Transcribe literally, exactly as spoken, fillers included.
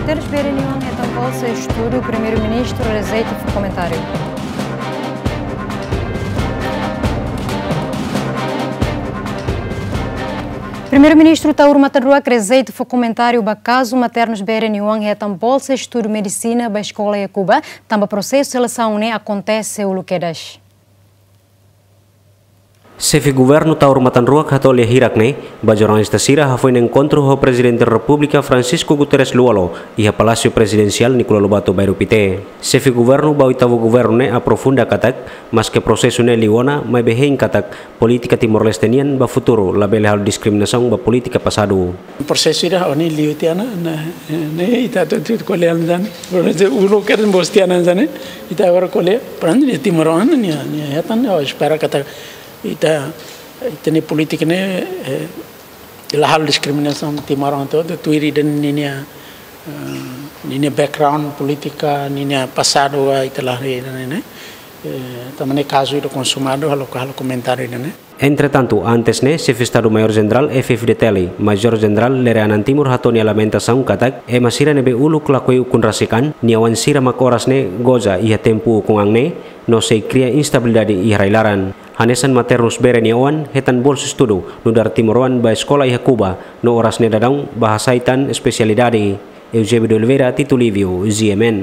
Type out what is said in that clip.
Maternus B R N oan hetan bolsa estudu, Primeiru-Ministru rejeita fó komentáriu. Primeiru-Ministru Taur Matan Ruak rejeita fó komentáriu ba kazu maternus B R N oan hetan bolsa estudu medisina ba eskola iha Kuba, tanba prosesu selesaun ne'e akontese uluk kedas. Xefe Governu Taur Matan Ruak hato'o lia hirak ne'e ba jornalista sira hafoin enkontru ho Prezidente Repúblika Francisco Guterres Lú-Olo iha Palásiu Prezidensiál Nicolau Lobato, bairru Pité. Xefe Governu ba oitavu governu ne'e aprofunda katak, maske prosesu ne'e liu ona, maibé hein katak polítika Timor-Leste nian ba futuru labele halo diskriminasaun ba polítika pasadu. Prosesu ida ohin liu tiha ona, ne'e, ne'e ita atu, atu ko'alia hanesan ne'e. Prosesu uluk kedas mós tiha ona hanesan ne'e, ita agora ko'alia, porém, ita timoroan, nia, nia hetan, ha'u espera katak ita, ita-nia polítika ne'e, eh, la halo diskriminasaun timoroan hotu, tuir ida-ne'e ninia, eh, ninia background polítika, ninia pasadu, ah, ita la haree ida-ne'e, eh, tanba ne'e kazu ida konsumadu, halo, halo komentáriu ida-ne'e. Entretantu, antes ne'e, Xefe Estadu Maiór Jenerál F-FDTL, Major Jenerál Lere Anan Timur hato'o nia lamentasaun katak, ema sira ne'ebé uluk lakohi ukun rasik an, nia oan sira mak oras ne'e goza iha tempu ukun an ne'e, no sei kria instabilidade iha rai-laran. Hanesan maternus B R N oan hetan bolsa estudu nu'udar timoroan ba eskola iha Kuba, no oras ne'e daudaun bá hasai tan espesialidade. Eusébio de Oliveira, Tito Livio, G M N.